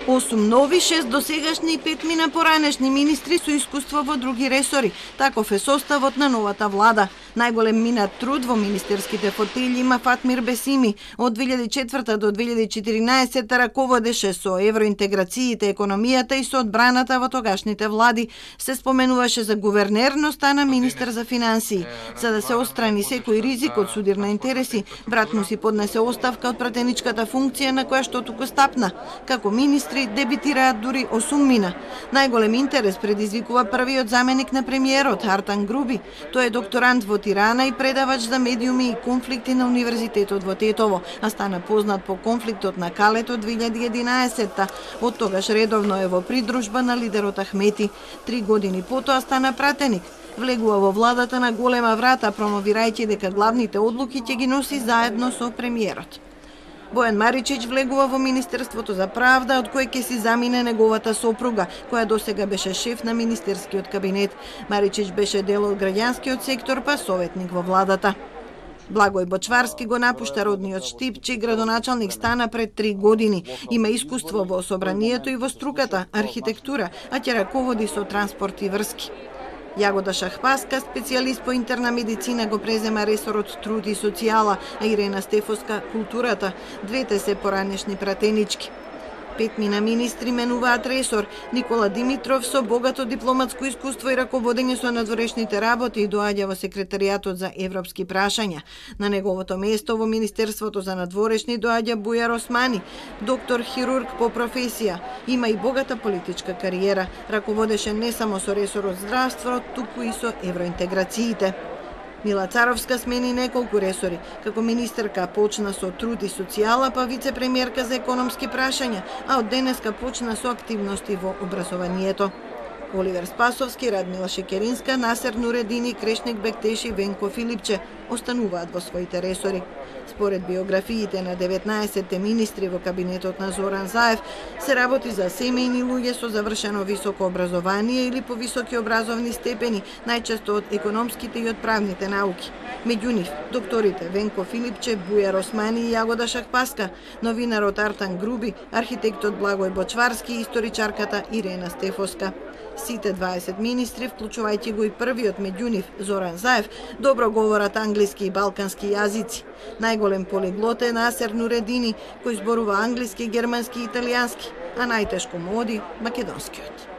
8 нови, 6 досегашни и 5 мина поранешни министри со искуство во други ресори. Таков е составот на новата влада. Најголем минат труд во министерските фотели има Фатмир Бесими. Од 2004 до 2014 раководеше со евроинтеграциите, економијата и со одбраната во тогашните влади. Се споменуваше за гувернер, но стана министер за финансии. За да се острани секој ризик од судир на интереси, брат му си поднесе оставка од пратеничката функција на која што туку стапна. Како министри дебитираат дури 8 мина. Најголем интерес предизвикува првиот заменик на премиерот Артан Груби. Тој е докторант во Тирана и предавач за медиуми и конфликти на Универзитетот во Тетово, а стана познат по конфликтот на Калет од 2011-та. Од тогаш редовно е во придружба на лидерот Ахмети. 3 години потоа стана пратеник. Влегува во владата на голема врата, промовирајќи дека главните одлуки ќе ги носи заедно со премиерот. Бојан Маричич влегува во Министерството за правда, од кој ќе си замине неговата сопруга, која досега беше шеф на министерскиот кабинет. Маричич беше дел од граѓанскиот сектор, па советник во владата. Благој Бочварски го напушта родниот Штип, чиј градоначалник стана пред 3 години. Има искуство во собранието и во струката, архитектура, а ќе раководи со транспорт и врски. Јагода Шахпаска, специјалист по интерна медицина, го презема ресорот труд и социјала, а Ирена Стефоска културата. Двете се поранешни пратенички. 5 мина министри менуваат ресор. Никола Димитров со богато дипломатско искуство и раководење со надворешните работи доаѓа во секретаријатот за европски прашања. На неговото место во Министерството за надворешни доаѓа Бујар Османи, доктор хирург по професија. Има и богата политичка кариера. Раководеше не само со ресорот здравство, туку и со евроинтеграциите. Мила Царовска смени неколку ресори. Како министерка почна со труд и социјала, па вице-премиерка за економски прашања, а од денеска почна со активности во образованието. Оливер Спасовски, Радмила Шекеринска, Насер Нуредини, Крешник Бектеши, Венко Филипче остануваат во своите ресори. Според биографиите на 19 министри во кабинетот на Зоран Заев, се работи за семејни луѓе со завршено високо образование или повисоки образовни степени, најчесто од економските и од правните науки. Меѓу нив, докторите Венко Филипче, Бујар Османи и Јагода Шахпаска, новинарот Артан Груби, архитектот Благој Бочварски и историчарката Ирена Стефоска. Сите 20 министри, вклучувајќи го и првиот меѓу нив, Зоран Заев, добро говорат англиски и балкански јазици. Најголем полиглот е Насер Нуредини, кој зборува англиски, германски и италијански, а најтешко му оди македонскиот.